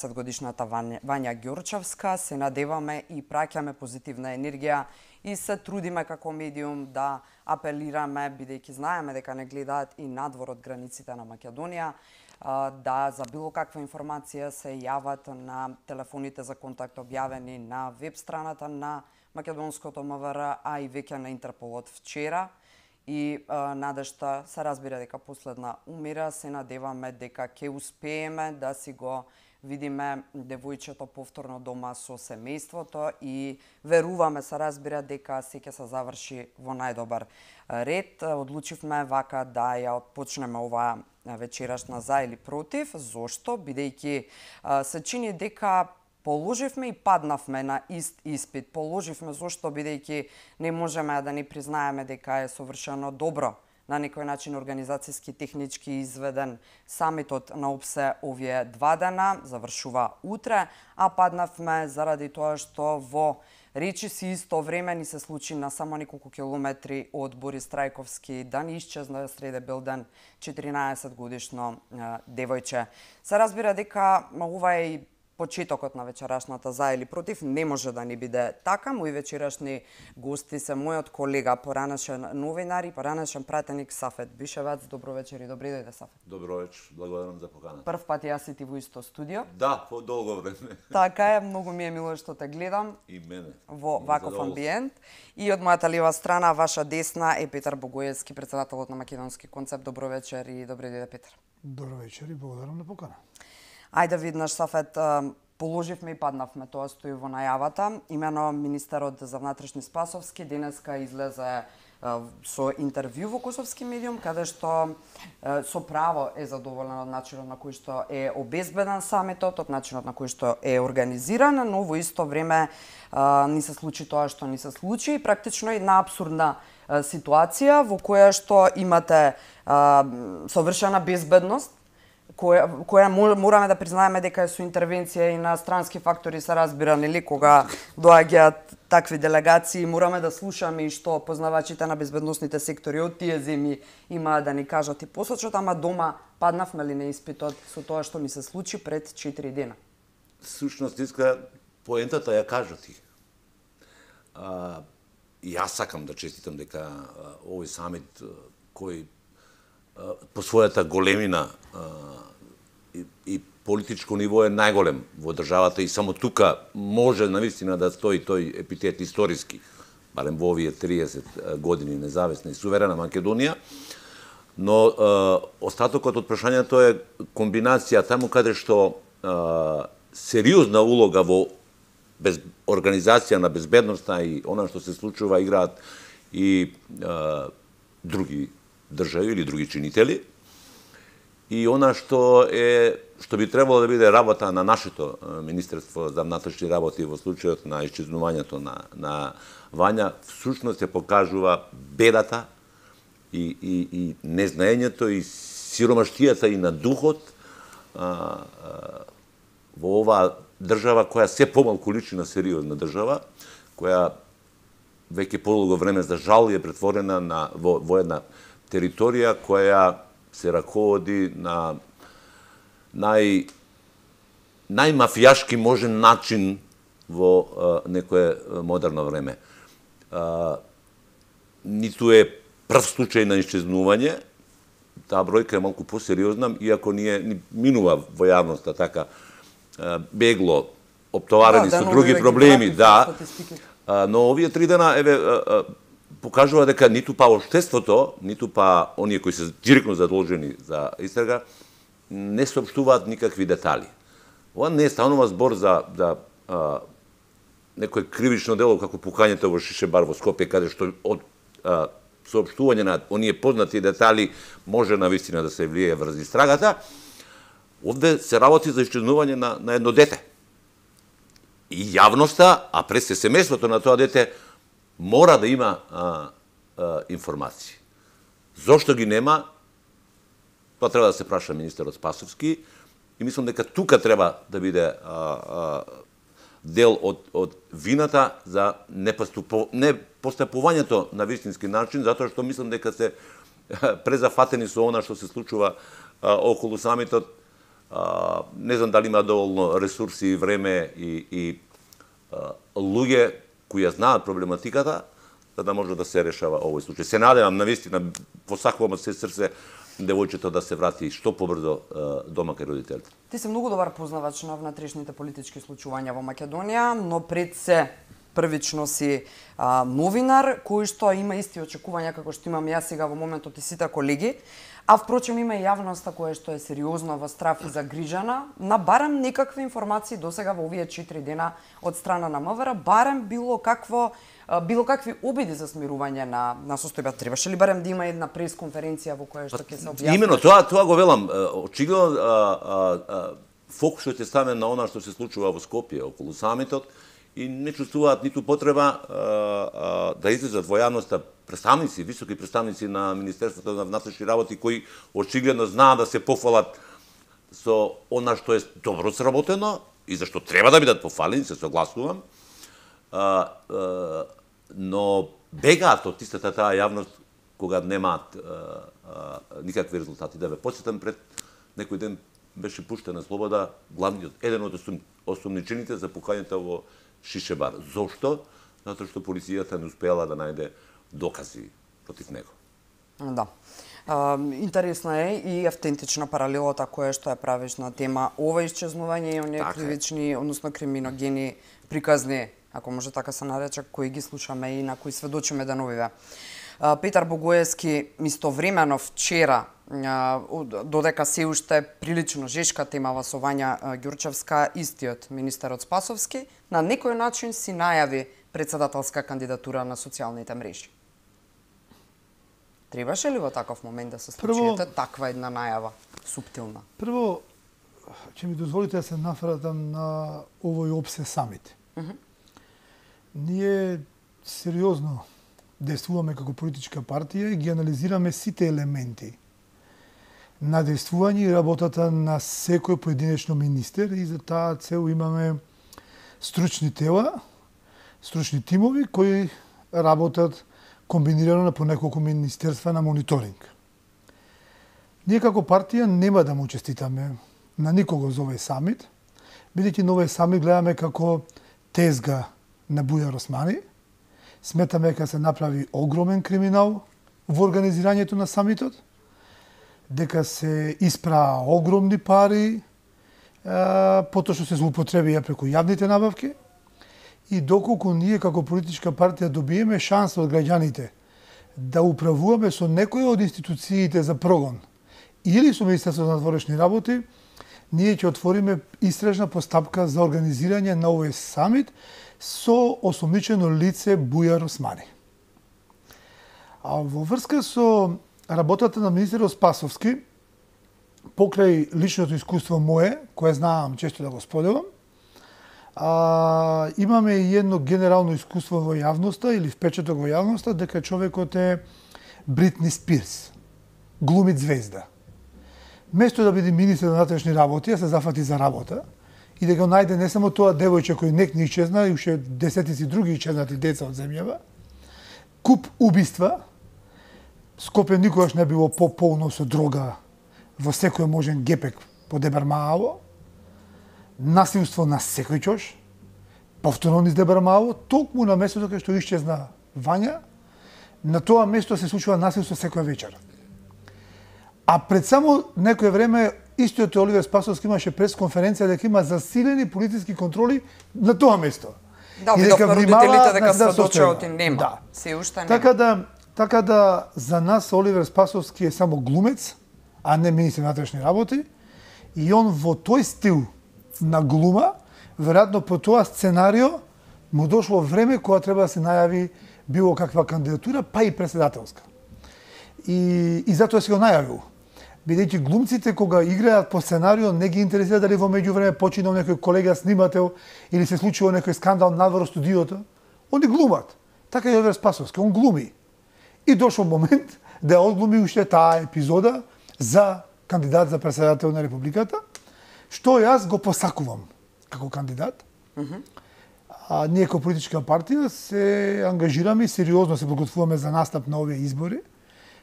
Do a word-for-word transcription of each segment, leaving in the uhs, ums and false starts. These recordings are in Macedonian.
годишната Вања Ѓурчевска, се надеваме и праќаме позитивна енергија и се трудиме како медиум да апелираме, бидејќи знаеме дека не гледаат и надвор од границите на Македонија, да за било каква информација се јават на телефоните за контакт објавени на веб страната на македонското МВР, а и веќе на Интерпол од вчера. И надежта се разбира дека последна умира, се надеваме дека ќе успееме да си го видиме девојчето повторно дома со семејството и веруваме, се разбира, дека се ќе се заврши во најдобар ред. Одлучивме вака да ја почнеме оваа вечерашна за или против. Зошто? Бидејќи се чини дека положивме и паднавме на ист испит. Положивме зошто? Бидејќи не можеме да ни признаеме дека е совршено добро на некој начин организацијски, технички изведен самитот на ОПСЕ овие два дена, завршува утре, а паднавме заради тоа што во речиси исто време ни се случи на само неколку километри од Борис Трајковски да ни исчезна среде бел ден четиринаесет годишно девојче. Се разбира дека ова е и почетокот на вечерашната за или против, не може да ни биде така. Мои вечерашни гости се мојот колега, поранешен новинар и поранешен пратеник Сафет Бишевац. Добро вечер и добри дојде, Сафет. Добро вечер, благодарам за поканата. Прв пат јас и ти во исто студио. Да, по долго време. Така е, многу ми е мило што те гледам. И мене. Во ваков амбиент. И од мојата лева страна, ваша десна, е Петар Богоевски, претседателот на Македонски концепт. Добро вечер и добри дојде, Петар. Добро вечер и благодарам на покана. Ајде виднаш, Сафет, положивме и паднавме, тоа стои во најавата. Имено министерот за внатрешни Спасовски денеска излезе со интервју во косовски медиум, каде што со право е задоволен од начинот на кој што е обезбеден самитот, од начинот на кој што е организиран, но во исто време ни се случи тоа што ни се случи, практично една абсурдна ситуација во која што имате совршена безбедност, која, која мораме да признаеме дека е со интервенција и на странски фактори, се разбира, нели, кога доаѓаат такви делегации, мораме да слушаме и што познавачите на безбедносните сектори од тие земји имаат да ни кажат и посочат, ама дома паднавме ли на испитот со тоа што ни се случи пред четири дена? Сушност, иска поентата ја кажа ти. А, јас сакам да честитам дека а, овој самит а, кој по својата големина и, и политичко ниво е најголем во државата и само тука може навистина да стои тој епитет историски, барем во овие триесет години независна и суверена Македонија, но е, остатокот од прашањето е комбинација таму каде што е, сериозна улога во без, организација на безбедноста и она што се случува играат и е, други држави или други чинители. И она што е што би требало да биде работа на нашето Министерство за внатрешни работи во случајот на исчезнувањето на на Вања, всушност ја покажува бедата и и и незнаењето и сиромаштијата и на духот а, а, во оваа држава која се помалку личи на сериозна држава, која веќе подолго време за жал е претворена на во, во една територија која се раководи на нај најмафијашки можен начин во а, некое модерно време. А, ниту е прв случај на исчезнување, таа бројка е малку посериозна, иако ние ни минува во јавноста така а, бегло оптоварени да, со да, други проблеми, да. А, но овие три дена еве а, а, покажува дека ниту па општеството, ниту па оние кои се директно задолжени за истрага, не соопштуваат никакви детали. Ова не е станува збор за, за а, некој кривично дело како пукањето во Шишебар во Скопје, каде што од а, соопштување на оние познати детали може навистина да се влијае врз истрагата. Овде се работи за исчезнување на, на едно дете. И јавноста, а пред се семејството на тоа дете, мора да има а, а, информации. Зошто ги нема? Тоа треба да се праша министерот Спасовски и мислам дека тука треба да биде а, а, дел од, од вината за непоступу, не постапувањето на вистински начин, затоа што мислам дека се презафатени со она што се случува а, околу самитот а, не знам дали има доволно ресурси, време и, и а, луѓе кои ја знаат проблематиката, за да може да се решава овој случај. Се надевам, навистина, посакувам од се срце девојчето да се врати што побрзо дома кај родителите. Ти си многу добар познавач на внатрешните политички случувања во Македонија, но пред се првично си а, новинар, кој што има исти очекувања како што имам јас сега во моментот и сите колеги, а впрочем има и јавноста која што е сериозно во страф и загрижена, на барем некакви информации досега во овие четири дена од страна на МВР, барем било какво било какви обиди за смирување на на состојбата. Требаше ли барем да има една пресконференција во која што ќе се објасни? Имено тоа тоа го велам, очигледно фокусот е ставен на она што се случува во Скопје околу самитот и не чувствуваат ниту потреба а, а, да излезат во јавноста представници, високи представници на Министерството на внатрешни работи кои очигледно знаат да се пофалат со она што е добро сработено и зашто треба да бидат пофалени, се согласувам. А, а, но бегаат од истата таа јавност кога немаат а, а, никакви резултати. Да ве потсетам, пред некој ден беше пуштен на слобода главниот, еден од осумничените за пукањето во Шишебар. Зошто? Затоа што полицијата не успеала да најде докази против него. Да. А, интересна е и автентична паралелата која што ја правиш на тема ова исчезнување и оние кривични, односно криминогени приказни, ако може така се нарече, кои ги слушаме и на кои сведочиме деновиве. Петар Богоевски истовремено вчера, додека се уште прилично жешка темава со Вања Ѓурчевска, истиот министерот Спасовски, на некој начин си најави председателска кандидатура на социјалните мрежи. Требаше ли во таков момент да се случи таква една најава, суптилна? Прво, ќе ми дозволите да се нафратам на овој ОПСЕ самит. Uh -huh. Ние сериозно действуваме како политичка партија и ги анализираме сите елементи на действување и работата на секој поединечно министер и за таа цел имаме стручни тела, стручни тимови кои работат комбинирано на по неколку министерства на мониторинг. Ние како партија нема да му честитаме на никого за овој самит, бидејќи на овој самит гледаме како тезга на Бујар Османи. Сметаме дека се направи огромен криминал во организирањето на самитот, дека се испраа огромни пари, потоа што се злоупотребија преку јавните набавки и доколку ние како политичка партија добиеме шанса од граѓаните да управуваме со некоја од институциите за прогон или со Министерството на надворешни работи, ние ќе отвориме истражна постапка за организирање на овој самит со осомничено лице Бујар Османи. А во врска со работата на министерот Спасовски, покрај личното искуство мое, кое знаам често да го споделам, а, имаме и едно генерално искуство во јавноста или впечаток во јавноста дека човекот е Бритни Спирс, глумит звезда. Место да биде министер на внатрешни работи, а се зафати за работа и да го најде не само тоа девојче кој нек не исчезна и уште десетици други исчезнати деца од земјава, куп убиства. Скопје никогаш не било пополно со дрога во секој можен гепек по Дебармаало, насилство на секој чош, повторно низ Дебармаало, токму на местото кај што исчезна Вања, на тоа место се случува насилство секоја вечер. А пред само некој време истиот Оливер Спасовски имаше пресконференција дека има засилени полициски контроли на тоа место. Да, и дека родителите дека сведочеот им нема. Да. Се уште нема. Така да, така да за нас Оливер Спасовски е само глумец, а не министер на внатрешни работи, и он во тој стил на глума, веројатно по тоа сценарио му дошло време кога треба да се најави било каква кандидатура, па и председателска. И, и затоа се го најавил. Бидејќи глумците кога играат по сценарио не ги интересира дали во меѓувреме починал некој колега снимател или се случува некој скандал надвор од студиото, они глумат. Така и Оливер Спасовски, он глуми. И дошол момент да одглуми уште таа епизода за кандидат за председател на Републиката, што јас го посакувам како кандидат. Mm -hmm. А ние како политичка партија се ангажираме и сериозно се подготвуваме за настап на овие избори,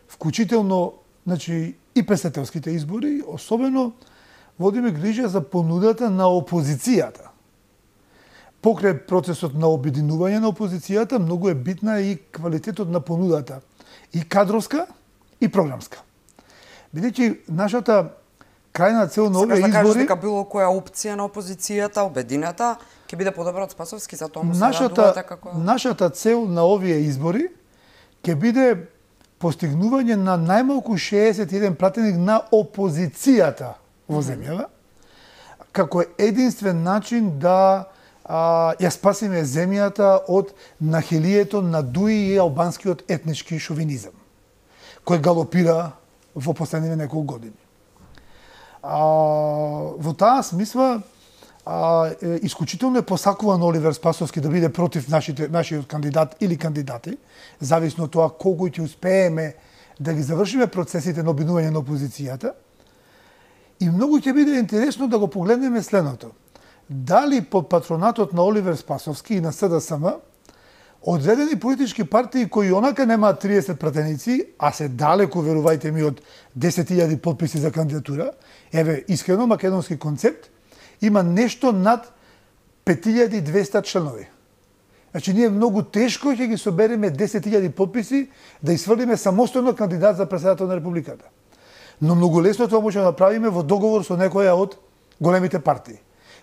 вклучително, значи, и председателските избори, особено водиме грижа за понудата на опозицијата. Покрај процесот на обединување на опозицијата, многу е битна и квалитетот на понудата, и кадровска, и програмска. Бидејќи нашата крајна цел на овие избори... Сакаш да кажеш избори... дека било која опција на опозицијата, обедината, ќе биде подобра од Спасовски, за тоа му се нашата, радувате како... Нашата цел на овие избори ќе биде постигнување на најмалку шеесет и еден пратеник на опозицијата во земјава, како единствен начин да а, ја спасиме земјата од нахилието на дуи и албанскиот етнички шовинизам, кој галопира во последниве неколку години. А, во таа смисла, а, е, исклучително е посакуван Оливер Спасовски да биде против нашите, нашиот кандидат или кандидати, зависно од тоа колку ќе успееме да ги завршиме процесите на обединување на опозицијата. И многу ќе биде интересно да го погледнеме следното. Дали под патронатот на Оливер Спасовски и на СДСМ одредени политички партии кои онака немаат триесет пратеници, а се далеку, верувајте ми, од десет илјади подписи за кандидатура, еве, искрено македонски концепт, има нешто над пет илјади и двесте чланови. Значи, ние многу тешко ќе ги собереме десет илјади подписи да изврлиме самостојно кандидат за председател на Републиката. Но многу лесно тоа може да направиме во договор со некоја од големите партии.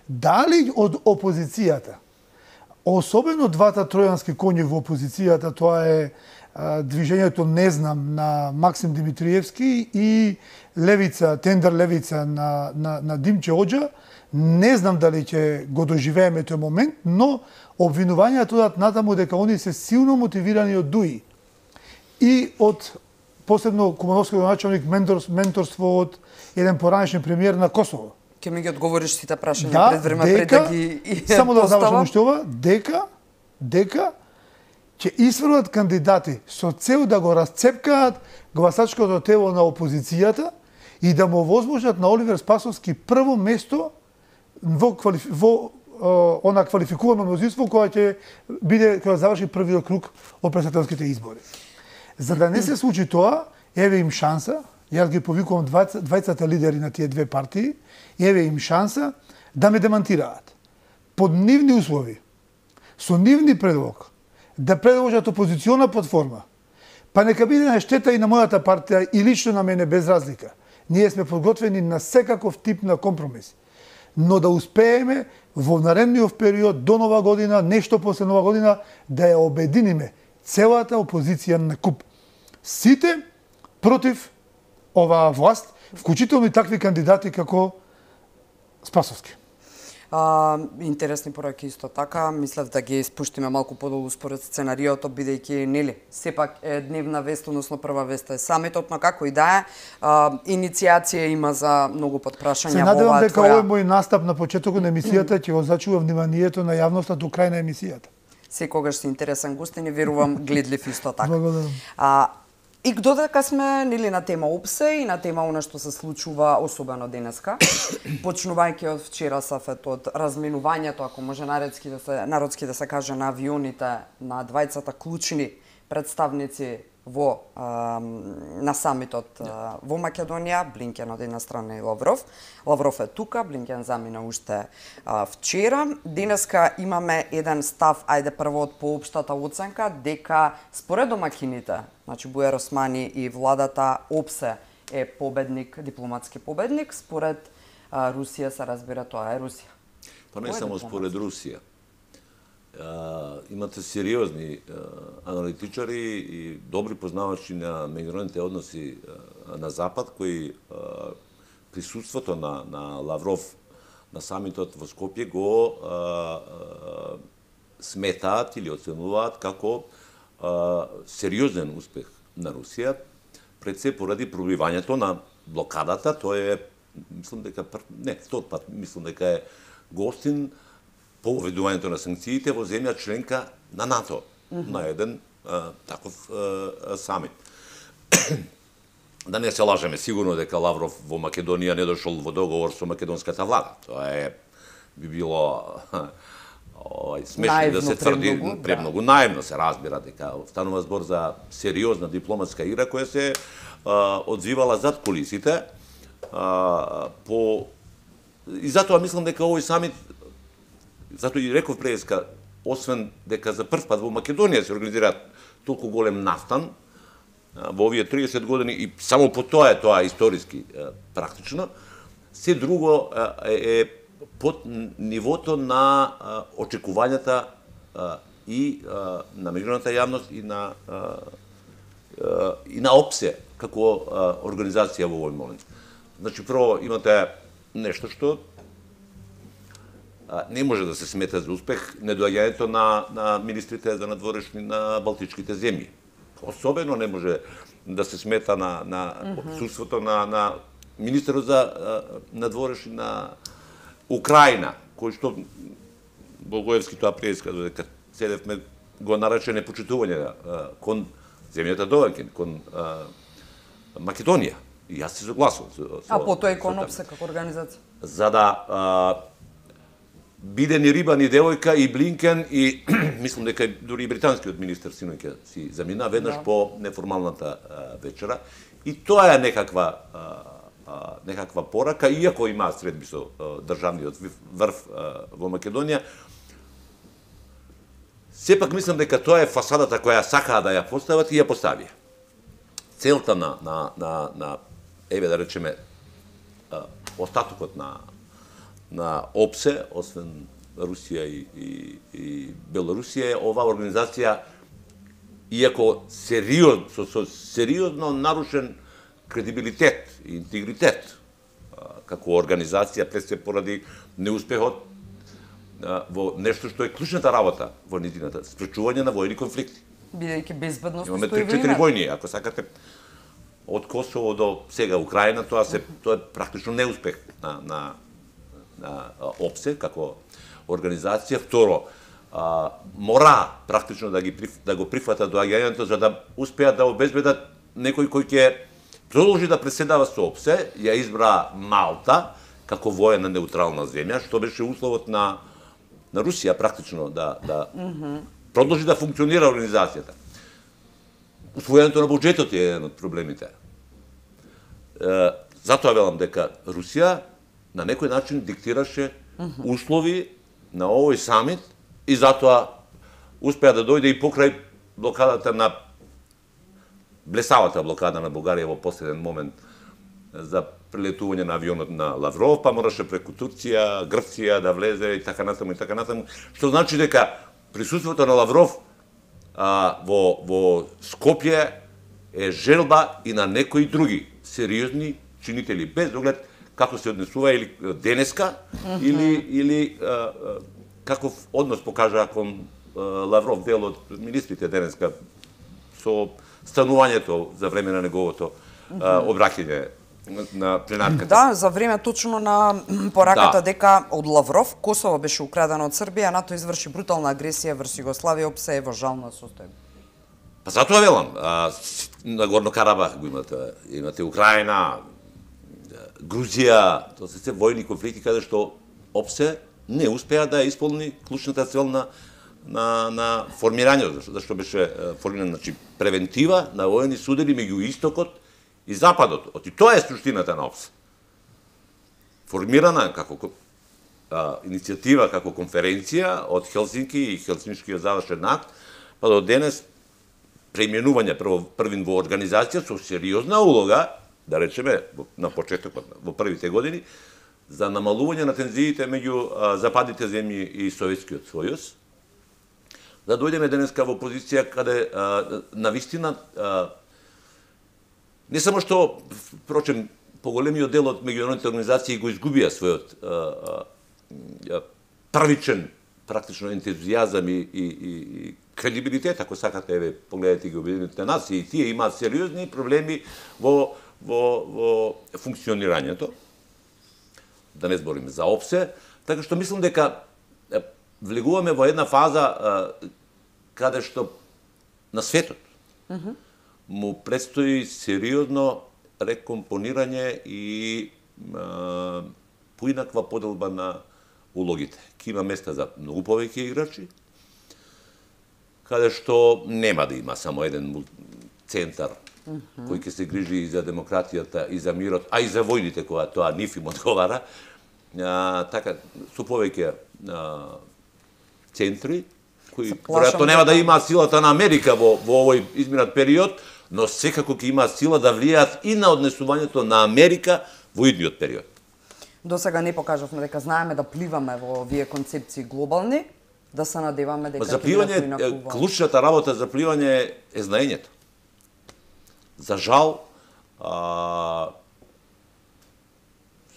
Дали од опозицијата, особено двата тројански коњи во опозицијата, тоа е а, движењето Не знам на Максим Димитриевски и Левица, Тендер Левица на, на, на Димче Оџа, не знам дали ќе го доживееме тој момент, но обвинувањата одат натаму дека они се силно мотивирани од ДУИ и од посебно Кумановскиот началник менторство од еден поранешен премиер на Косово. Ке ми ги одговориш сите прашања Да, пред време дека, пред да ги и само да постава. завршам уште ова, дека дека ќе исфрлат кандидати со цел да го расцепкаат гласачкото тело на опозицијата и да му возможат на Оливер Спасовски прво место во, квалифи... во о, она квалификувано мнозинство која ќе биде која заврши првиот круг од претседателските избори. За да не се случи тоа, еве им шанса, јас ги повикувам двајцата лидери на тие две партии, еве им шанса да ме демантираат. Под нивни услови, со нивни предлог, да предложат опозициона платформа, па нека биде на штета и на мојата партија и лично на мене без разлика. Ние сме подготвени на секаков тип на компромис. Но да успееме во наредниот период до нова година, нешто после нова година, да ја обединиме целата опозиција на куп. Сите против оваа власт, вклучително и такви кандидати како Спасовски. А, интересни пораки исто така, мислев да ги спуштиме малку подолу според сценариото, бидејќи нели сепак е дневна вест, односно прва вест е самитот, но како и да е, а, иницијација има за многу подпрашања. Се надевам во оваа дека твоја... овој мој настап на почетокот на емисијата ќе го зачува вниманието на јавноста до крај на емисијата. Секогаш си интересен гостин и верувам гледлив исто така. Благодарам. А, и додека сме нели на тема ОПСЕ и на тема она што се случува особено денеска, почнувајќи од вчера сафет од разменувањето, ако може народски да се народски да се каже, на авионите на двајцата клучни представници во а, на самитот а, во Македонија, Блинкен од една страна и Лавров. Лавров е тука, Блинкен замина уште а, вчера. Денеска имаме еден став, ајде прво од поопштата оценка, дека според домакините, значи Бујар Османи и владата, ОПСЕ е победник, дипломатски победник, според а, Русија се разбира тоа е Русија. Па не само според Русија. Uh, имате сериозни uh, аналитичари и добри познавачи на меѓународните односи uh, на Запад, кои uh, присуството на, на Лавров на самитот во Скопје го uh, uh, сметаат или оценуваат како uh, сериозен успех на Русија, пред се поради пробивањето на блокадата. Тоа е, мислам дека, не, втор пат, мислам дека е гостин по уведувањето на санкциите во земја членка на НАТО, mm -hmm. на еден а, таков а, самит. Да не се лажеме, сигурно дека Лавров во Македонија не дошол во договор со македонската влада. Тоа е би било ой, смешно наивно, да се тврди, премногу, премногу да. Наивно се разбира дека станува збор за сериозна дипломатска игра која се а, одвивала зад кулисите а, по и затоа мислам дека овој самит, затоа и реков преска, освен дека за прв пат во Македонија се организира толку голем настан во овие триесет години и само по тоа е тоа историски практично, се друго е под нивото на очекувањата и на меѓународната јавност и на и на ОПСЕ како организација во овој момент. Значи, прво имате нешто што не може да се смета за успех недоаѓањето на, на министрите за надворешни на балтичките земји. Особено не може да се смета на, на отсутството на, на министерот за надворешни на Украина, кој што Богоевски тоа преска додека седевме го нарече непочитување кон земјата домаќин, кон а, Македонија. И јас се согласувам. А потоа и кон ОПСЕ како организација. За да а, биде ни риба ни девојка и Блинкен и мислам дека дури и британскиот министер синоќа си замина веднаш да. По неформалната а, вечера и тоа е некаква а, а, некаква порака, иако има средби со а, државниот врв а, во Македонија. Сепак мислам дека тоа е фасадата која сакаа да ја постават и ја поставија. Целта на на на на еве да речеме остатокот на на ОПСЕ, освен Русија и и, и Белорусија, е оваа организација, иако сериозно со, со сериозно нарушен кредибилитет и интегритет како организација пред се поради неуспехот во нешто што е клучната работа во низината, спречување на војни конфликти. Бидејќи безбедност имаме три-четири војни, ако сакате од Косово до сега Украина, тоа се тоа е практично неуспех на на на ОПСЕ како организација. Второ, а, мора практично да ги да го прифатат доаѓањето за да успеат да обезбедат некој кој ќе продолжи да преседава со ОПСЕ. Ја избра Малта како воена неутрална земја, што беше условот на на Русија практично да да mm-hmm. продолжи да функционира организацијата. Усвојањето на буџетот е еден од проблемите. Е, затоа велам дека Русија на некој начин диктираше mm-hmm. услови на овој самит и затоа успеа да дојде и покрај блокадата на блесавата блокада на Бугарија во последен момент за прелетување на авионот на Лавров, па мораше преку Турција, Грција да влезе и така натаму и така натаму, што значи дека присуството на Лавров а, во во Скопје е желба и на некои други сериозни чинители, без оглед како се однесува или денеска mm-hmm. или или а, а, каков однос покажа кон а, Лавров, дел од министрите денеска со станувањето за време на неговото mm-hmm. обраќање на пленарката. Да, за време точно на пораката Да. дека од Лавров Косово беше украдено од Србија, НАТО изврши брутална агресија врз Југославија, ОПСЕ е во жално состојба. Па затоа велам, а, на Горно Карабах го имате, имате Украина, Грузија, тоа се се војни конфликти каде што ОПСЕ не успеа да исполни клучната цел на на на формирањето, зашто, зашто беше формирана, значи превентива на војни судени меѓу истокот и западот. Оти тоа е суштината на ОПСЕ. Формирана како а, иницијатива, како конференција од Хелсинки и Хелсиншкиот завршен акт, па до денес преименување прво првин во организација со сериозна улога, да речеме на почетокот во првите години, за намалување на тензиите меѓу а, западните земји и Советскиот сојуз, да дојдеме денеска во позиција каде а, навистина а, не само што, впрочем, поголемиот дел од меѓународните организации го изгубија својот а, а, првичен, практично ентузијазам и, и, и кредибилитет, ако сакате, еве, погледате ги Обединетите нации, и тие имаат сериозни проблеми во, во, во функционирањето, да не збориме за ОПСЕ, така што мислам дека влегуваме во една фаза а, каде што на светот mm-hmm. му предстои сериозно рекомпонирање и а, поинаква поделба на улогите. Ке има места за многу повеќе играчи, каде што нема да има само еден центар mm-hmm. кој ќе се грижи и за демократијата, и за мирот, а и за војните, која тоа ниф им одговара, а, така со повеќе а, центри кои Се плашам веројатно нема да дека- има силата на Америка во во овој изминат период, но секако ќе има сила да влијаат и на однесувањето на Америка во идниот период. До сега не покажавме дека знаеме да пливаме во овие концепции глобални, да се надеваме дека За ќе бидат пливање, е, поинакува. клучната работа за пливање е знаењето. За жал, а,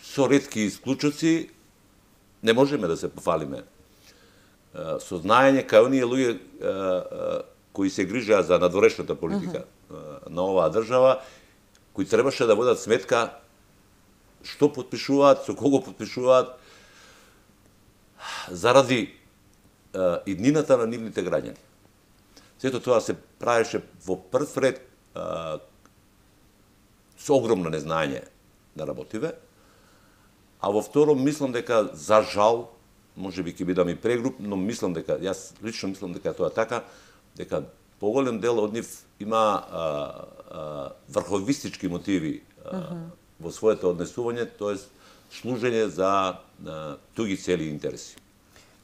со ретки исклучоци не можеме да се пофалиме а, со знаење кај оние луѓе а, а, кои се грижаа за надворешната политика а, на оваа држава, кои требаше да водат сметка што потпишуваат, со кого потпишуваат, заради а, иднината на нивните граѓани. Сето тоа се правеше во прв ред а, со огромно незнање да работиве, а во второ мислам дека за жал, може би ќе бидам и прегруп, но мислам дека, јас лично мислам дека тоа така, дека поголем дел од нив има а, а, врховистички мотиви а, uh -huh. во своето однесување, тоест служење за а, туги цели и интереси.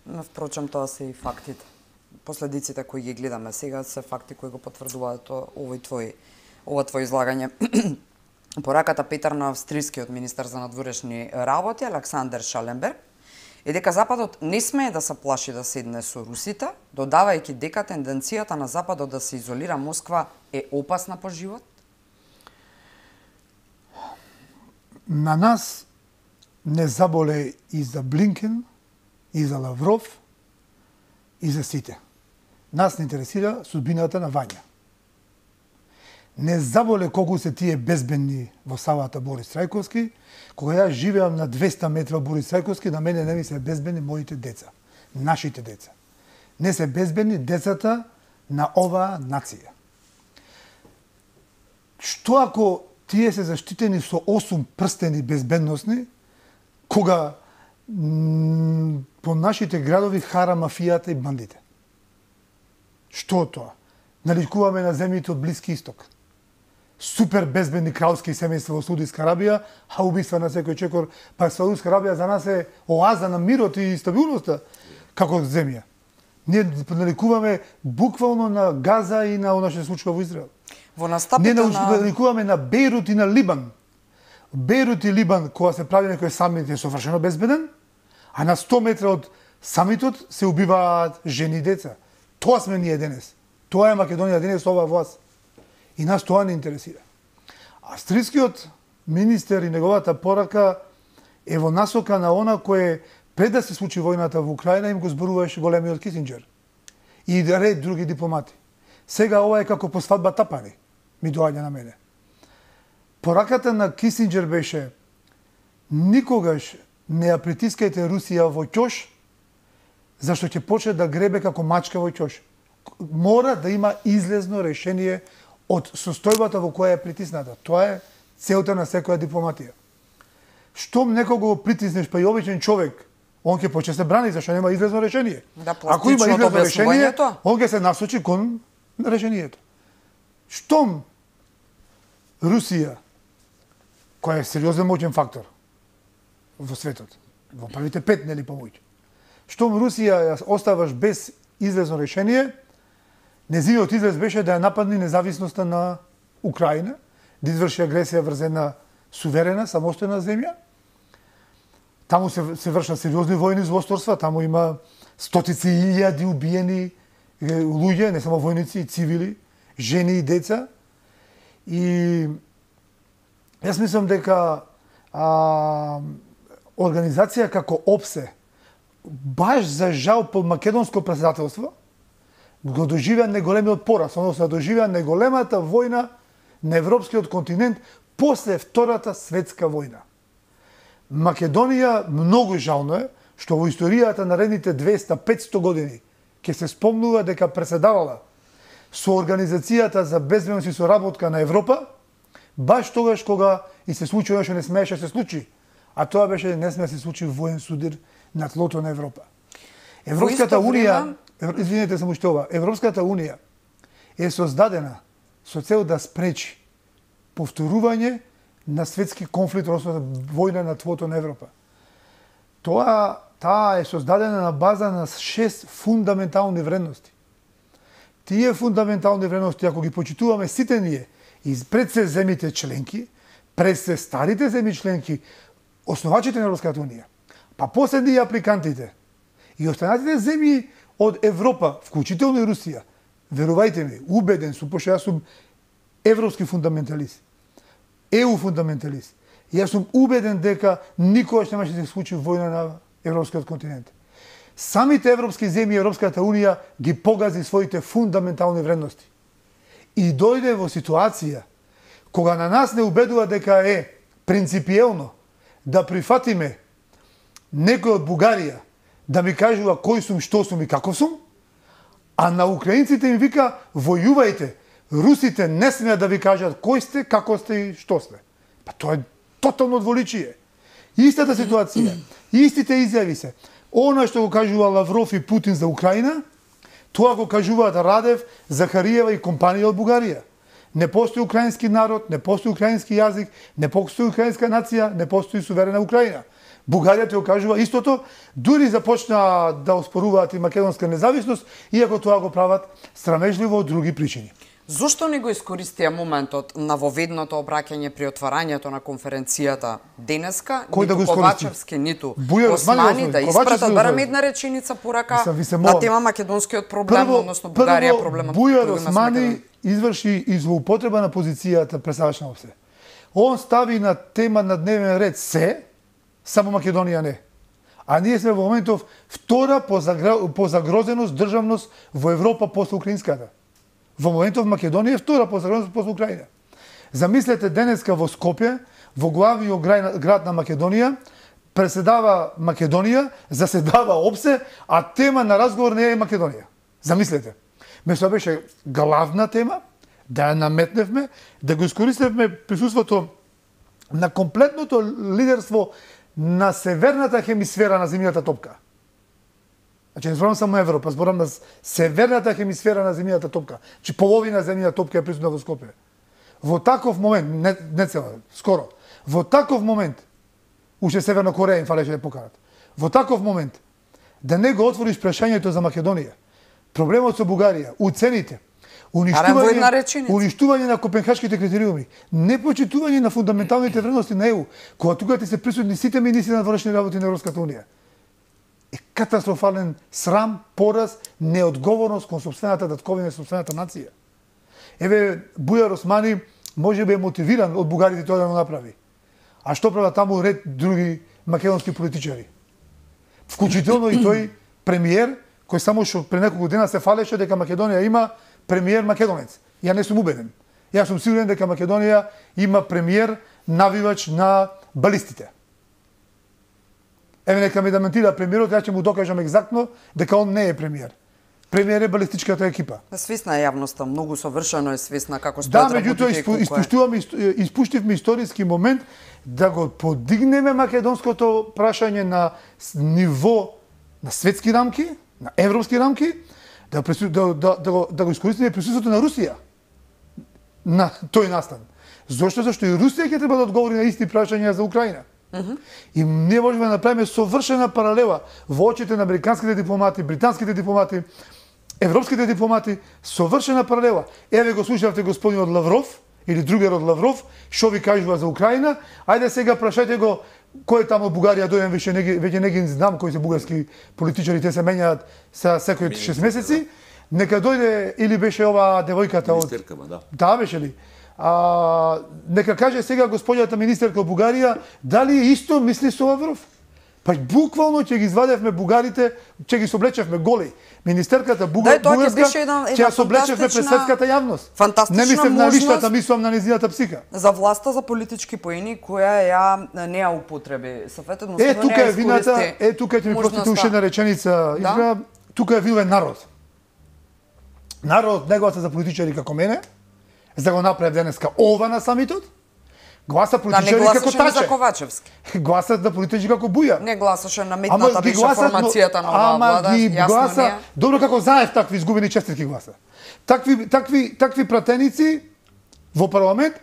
Но впрочем тоа се и фактите. Последиците кои ги гледаме сега се факти кои го потврдуваат овој твој ова твое излагање. Пораката Петар на австрискиот министер за надворешни работи Александер Шаленберг е дека Западот не смее да се плаши да седне со русите, додавајќи дека тенденцијата на Западот да се изолира Москва е опасна по живот. На нас не заболе и за Блинкен, и за Лавров, и за сите. Нас не интересира судбината на Вања. Не заболе колку се тие безбедни во савата Борис Трајковски, кога ја живеам на двеста метра од Борис Трајковски, на мене не ми се безбедни моите деца, нашите деца. Не се безбедни децата на оваа нација. Што ако тие се заштитени со осум прстени безбедносни, кога по нашите градови хара мафијата и бандите? Што тоа? Наликуваме на земјите од Блиски Исток. Супер безбедни кралски семејства во Саудиска Арабија, а убиства на секој чекор, па Саудиска Арабија за нас е оаза на мирот и стабилноста како земја. Ние наликуваме буквално на Газа и на она што се случува во Израел. Во настапите Не на... наликуваме на Бејрут и на Либан. Бејрут и Либан, кога се прави некој самит, е совршено безбеден, а на сто метра од самитот се убиваат жени и деца. Тоа сме ние денес. Тоа е Македонија денес, оваа власт. И нас тоа не интересира. Австрискиот министер и неговата порака е во насока на она кое пред да се случи војната во Украина им го зборуваше големиот Кисинџер и да ред други дипломати. Сега ова е како по свадба тапани, ми доаѓа на мене. Пораката на Кисинџер беше: никогаш не ја притискајте Русија во ќош, зашто ќе почне да гребе како мачка во ќош. Мора да има излезно решение од состојбата во која е притисната. Тоа е целта на секоја дипломатија. Штом некого притиснеш, па и обичен човек, он ќе почне се брани, зашто нема излезно решение. Да, ако има излезно решение, објаснувањето. он ќе се насочи кон решението. Штом Русија, која е сериозен моќен фактор во светот, во првите пет, нели помоќ. Штом Русија ја оставаш без излезно решение, незиниот излез беше да ја нападне независноста на Украина, да изврши агресија врз една суверена, самостојна земја. Таму се, се вршат сериозни војни злосторства, таму има стотици илјади убиени луѓе, не само војници, и цивили, жени и деца. И јас мислам дека а, организација како ОПСЕ, баш за жал под македонско председателство, го доживеа неголемиот пораз, односно доживеа неголемата војна на европскиот континент после Втората светска војна. Македонија многу жално е што во историјата наредните двеста до петсто години ќе се спомнува дека преседавала со Организацијата за безбедност и соработка на Европа, баш тогаш кога и се случи оно што не смееше се случи, а тоа беше не смее да се случи воен судир на тлото на Европа. Европската унија, време... извинете само што ова, Европската унија е создадена со цел да спречи повторување на светски конфликт, односно војна на тлото на Европа. Тоа таа е создадена на база на шест фундаментални вредности. Тие фундаментални вредности, ако ги почитуваме сите ние, и пред се земите членки, пред се старите земји членки, основачите на Европската унија, па последни и апликантите, и останатите земји од Европа, вклучително и Русија, верувајте ми, убеден сум, пошто јас сум европски фундаменталист, еу фундаменталист, јас сум убеден дека никогаш немаше да се случи војна на европскиот континент. Самите европски земји, Европската унија ги погази своите фундаментални вредности. И дојде во ситуација кога на нас не убедува дека е принципиелно да прифатиме некој од Бугарија да ми кажува кој сум, што сум и каков сум, а на украинците им вика војувајте, русите не смеат да ви кажат кој сте, како сте и што сте. Па тоа е тотално дволичие. Истата ситуација, истите изјави се. Она што го кажува Лавров и Путин за Украина, тоа го кажуваат Радев, Захариева и компанија од Бугарија. Не постои украински народ, не постои украински јазик, не постои украинска нација, не постои суверена Украина. Бугарија те го кажува истото, дури започна да оспоруваат и македонска независност, иако тоа го прават срамежливо од други причини. Зошто не го искористија моментот на воведното обраќање при отварањето на конференцијата денеска, Кој да ниту Ковачевски, ниту Османи, да испратат барем една реченица порака на тема македонскиот проблем, прво, односно Бугарија прво, проблемот. Бујар Османи изврши извоупотреба на позицијата пресадачна опсе. Он стави на тема на дневен ред се, само Македонија не. А ние сме во моментов втора по, загра... по загрозеност државност во Европа после украинската. Во моментов Македонија е втора по загрозеност после Украина. Замислете денеска во Скопје, во главниот град на Македонија, преседава Македонија, заседава ОПСЕ, а тема на разговор не е Македонија. Замислете. Место беше главна тема, да ја наметневме, да го искористевме присуството на комплетното лидерство на северната хемисфера на земјата топка. Значи, не зборам само Европа, зборам на северната хемисфера на земјата топка. Значи, половина земјата топка е присутна во Скопје. Во таков момент, не, не цела, скоро, во таков момент, уште Северна Кореја им фалеше да покарат, во таков момент, да не го отвориш прашањето за Македонија, проблемот со Бугарија, уцените, уништување, уништување на копенхашките критериуми, непочитување на фундаменталните вредности на ЕУ, кога тука ти се присутни сите министри на външни работи на Европската унија. Е катастрофален срам, пораз, неодговорност кон сопствената татковина и сопствената нација. Еве, Бујар Османи може би е мотивиран од бугарите тоа да го направи. А што прават таму ред други македонски политичари? Вклучително и тој премиер, кој само што пред неколку дена се фалеше дека Македонија има премиер македонец. Ја не сум убеден. Јас сум сигурен дека Македонија има премиер навивач на балистите. Еве нека ми да ментира премиерот, ја ќе му докажам екзактно дека он не е премиер. Премиер е балистичката екипа. Свесна е јавноста, многу совршено е свесна како стојат да, работите. Да, меѓутоа испуштуваме, испуштивме историски момент да го подигнеме македонското прашање на ниво на светски рамки, на европски рамки, да, прису... да, да, да, го, да го искористиме присуството на Русија на тој настан. Зошто? Зашто и Русија ќе треба да одговори на исти прашања за Украина. Uh-huh. И ние можеме да направиме совршена паралела во очите на американските дипломати, британските дипломати, европските дипломати, совршена паралела. Еве го слушавте господинот Лавров или другиот Лавров, што ви кажува за Украина, ајде сега прашајте го кој е таму од Бугарија, дојден веќе не ги, веќе не ги знам кои се бугарски политичари, те се менјаат се секој шест месеци. Нека дојде или беше ова девојката од да. Да, беше ли? А, нека каже сега господјата министерка од Бугарија дали исто мисли со Лавров. Па буквално ќе ги извадевме бугарите, ќе ги соблечевме голи. Министерката буга, да, бугарска ќе ја соблечевме пред светската јавност. Фантастична не мислам можност на лиштата, мислам на нејзината псика. За власта за политички поени која ја не ја употреби. Сафетот му е тука е вината, е тука ќе ми простите уште една реченица. Да? Изгледа, тука е вилен народ. Народ не гласа за политичари како мене, за да го направи денеска ова на самитот. Гласа политичари да, како Таче. За Ковачевски. Гласат на политичари како Буја. Не гласаше на метната беше формацијата на оваа влада. Ама ги гласа, добро како Заев такви изгубени честитки гласа. Такви, такви, такви пратеници во парламент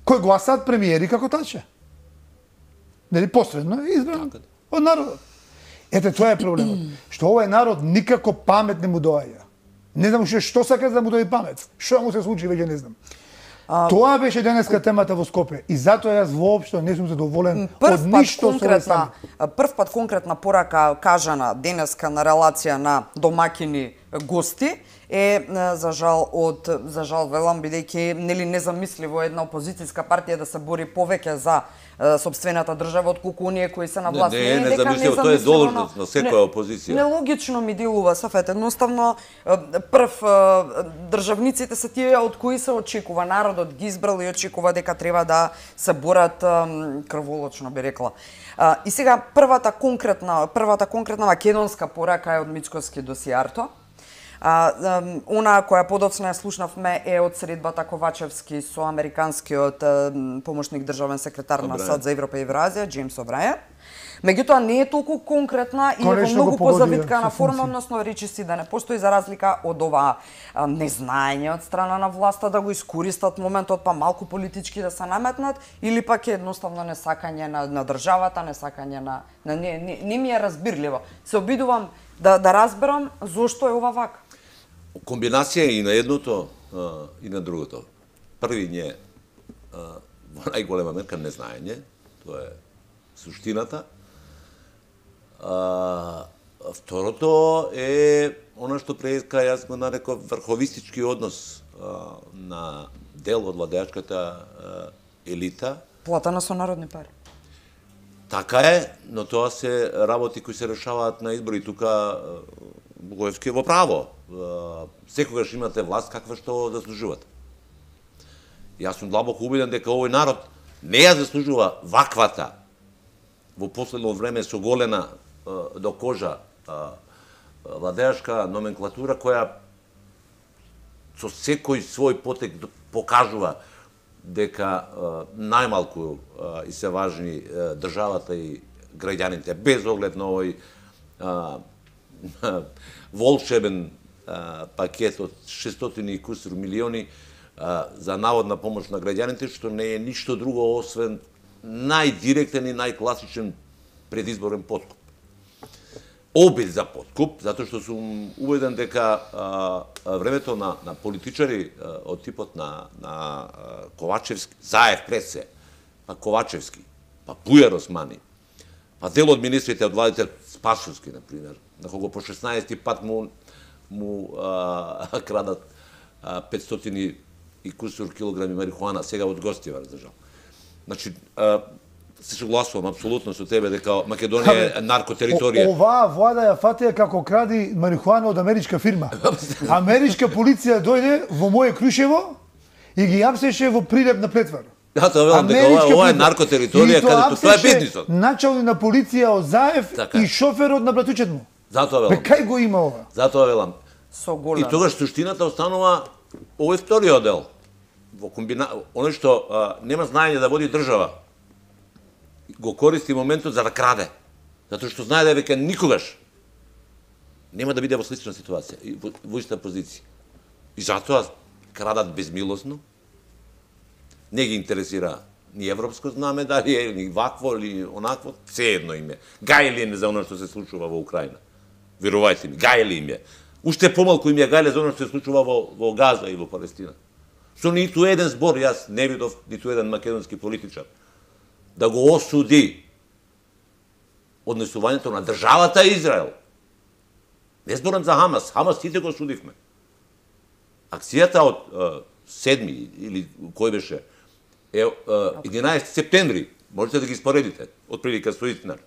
кои гласаат премиери како Таче. Нели посредно е избран од народот. Ете, тоа е проблемот. Што овој народ никако памет не му доаѓа. Не знам уште што сака да му дојде памет. Што му се случи, веќе не знам. А, Тоа беше денеска темата во Скопје и затоа јас воопшто не сум задоволен од ништо со овој самит. Прв пат конкретна порака кажана денеска на релација на домакини гости е за жал од за жал велам бидејќи нели незамисливо една опозицијска партија да се бори повеќе за сопствената држава отколку оние кои се на власт. Не, не, не, незамисливо, тоа е должност на секоја опозиција. Нелогично ми делува Сафет, едноставно прв државниците се тие од кои се очекува, народот ги избрал и очекува дека треба да се борат крволочно би рекла. И сега првата конкретна првата конкретна македонска порака е од Мицкоски до Сијарто. А, она која подоцна ја слушнавме е од средбата Ковачевски со американскиот помошник државен секретар на САД за Европа и Евразија, Джеймс Обрајен. Меѓутоа не е толку конкретна и е во многу позавиткана форма, односно речиси да не постои за разлика од ова незнаење од страна на власта да го искористат моментот па малку политички да се наметнат или пак е едноставно несакање на, на државата, несакање на, на не, не, не ми е разбирливо. Се обидувам да да разберам зошто е ова вака. Комбинација и на едното а, и на другото. Први не во најголема мерка незнаење, тоа е суштината. А, второто е она што преска јас го нареков врховистички однос а, на дел од владеачката а, елита. Платена со народни пари. Така е, но тоа се работи кои се решаваат на избори. Тука Богоевски е во право. Секогаш имате власт каква што заслужувате. Јас сум длабоко убеден дека овој народ не ја заслужува ваквата во последно време соголена до кожа владеашка номенклатура која со секој свој потек покажува дека најмалку и се важни државата и граѓаните, без оглед на овој волшебен пакет од шестстотини и кусур милиони за наводна помош на граѓаните, што не е ништо друго освен најдиректен и најкласичен предизборен подкуп. Обид за подкуп, затоа што сум убеден дека а, времето на, на политичари а, од типот на, на а, Ковачевски, Заев пред се, па Ковачевски, па Бујар Османи, па дел од министрите од владите Спасовски, например, на кого по шеснаесети пат му, му а, крадат а, петстотини и кусур килограми марихуана, сега од Гостивар, за жал. Значи, а, се согласувам апсолутно со тебе дека Македонија е наркотериторија. Оваа влада ја фатија како кради марихуана од америчка фирма. Америчка полиција дојде во моје Крушево и ги апсеше во прилеп на претвар. Да, тоа велам дека ова е наркотериторија каде тоа е бизнисот. Началник на полиција од Заев така. И шоферот на братучет му. Затоа велам. Бе кај го има ова? Затоа велам. Со голем. И тогаш суштината останува овој вториот дел. Во комбина оно што а, нема знаење да води држава, го користи моментот за да краде. Затоа што знае да веќе никогаш нема да биде во слична ситуација, и во, во иста позиција. И затоа крадат безмилосно. Не ги интересира ни европско знаме, дали е ни вакво или онакво, се едно им е. Гајле им е за оно што се случува во Украина. Верувајте ми, гајле им е. Уште помалку им е гајле за оно што се случува во, во Газа и во Палестина. Со ниту еден збор јас не видов ниту еден македонски политичар да го осуди однесувањето на државата Израел. Не зборам за Хамас, Хамас сите го осудивме. Акцијата од е, седми или кој беше е единаесети септември, можете да ги споредите, од прилика со Истинар.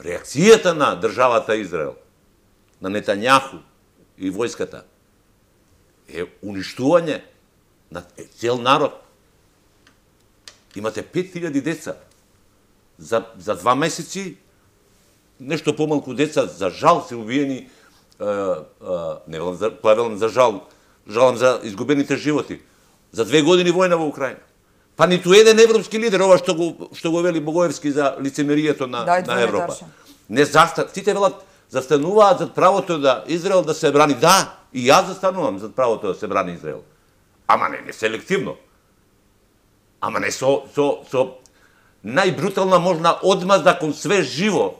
Реакцијата на државата Израел, на Нетањаху и војската е уништување на цел народ. Имате пет илјади деца. За, за два месеци, нешто помалку деца, за жал, се убиени, е, е, не велам за, велам за жал, жалам за изгубените животи. За две години војна во Украина. Па ниту еден европски лидер, ова што го, што го вели Богоевски за лицемерието на, Дај, на Европа. Не застан, сите велат, застануваат за правото да Израел да се брани. Да, и јас застанувам за правото да се брани Израел. Ама не, не селективно. Ама не со, со, со најбрутална можна одмазда кон све живо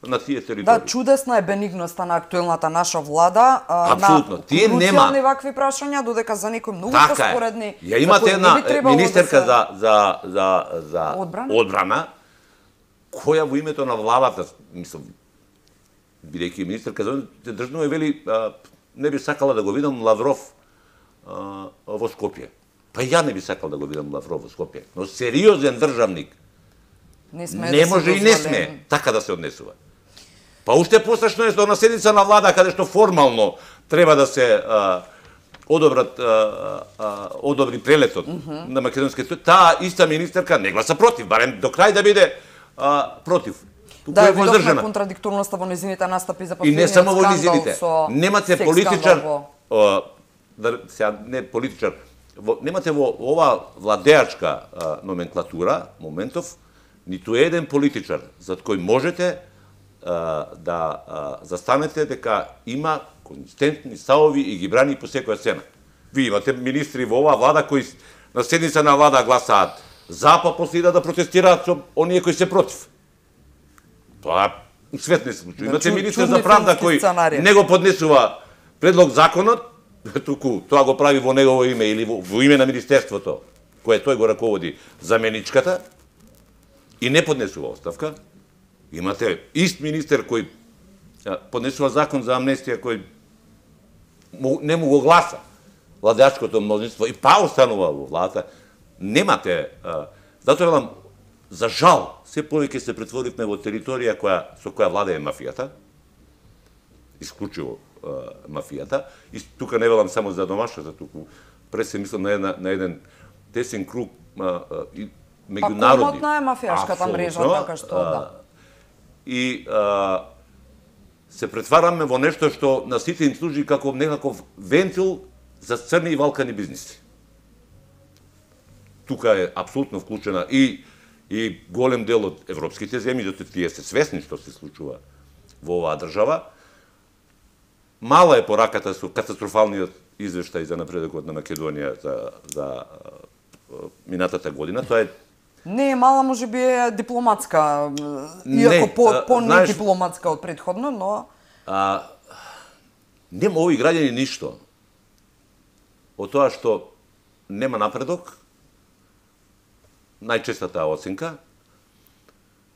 на тие територии. Да, чудесна е бенигноста на актуелната наша влада а, Апсолутно. на Тие круцијални нема вакви прашања, додека за некои многу така поспоредни. Е. Ја имате една министерка да се... за за за за одбрана? одбрана која во името на владата, мислам, бидејќи министерка за државно е вели а, не би сакала да го видам Лавров а, во Скопје. Па ја не би сакал да го видам Лавров во Скопје, но сериозен државник не, сме не да може и не дозволен. сме така да се однесува. Па уште пострашно е што на седница на влада каде што формално треба да се а, одобрат а, а, одобри прелетот mm -hmm. на македонските, таа иста министерка не гласа против, барем до крај да биде а, против. Да, е видовме контрадикторноста во незините настапи за последниот скандал. И не само во незините. Со немате политичар, во... а, да, сега не политичар, во, немате во ова владеачка а, номенклатура, моментов, ниту еден политичар за кој можете а, да а, застанете дека има консистентни ставови и ги брани по секоја цена. Ви имате министри во оваа влада кои на седница на влада гласаат за, па после идат да протестираат со оние кои се против. Тоа свет не се случува. Имате да, министр за правда кој сценарија. Не го поднесува предлог законот, туку тоа го прави во негово име или во, во име на министерството, кое тој го раководи заменичката, и не поднесува оставка. Имате ист министер кој поднесува закон за амнестија кој не му го гласа владеачкото мнозинство и па останува во владата. Немате, затоа велам, за жал, се повеќе се претворивме во територија која со која владее мафијата, исклучиво мафијата, и тука не велам само за домашната, туку пред се мислам на, една, на еден тесен круг а, а, и меѓународни. Па комотна е мафијашката мрежа, така што да. И а, се претвараме во нешто што на сите им служи како некаков вентил за црни и валкани бизниси. Тука е апсолутно вклучена и и голем дел од европските земји, затоа тие се свесни што се случува во оваа држава. Мала е пораката со катастрофалниот извештај за напредокот на Македонија за, за минатата година. Тоа е не е мала, можеби е дипломатска, иако не, по, по не дипломатска од предходно, но... А, нема овој граѓани ништо од тоа што нема напредок, најчестата оценка,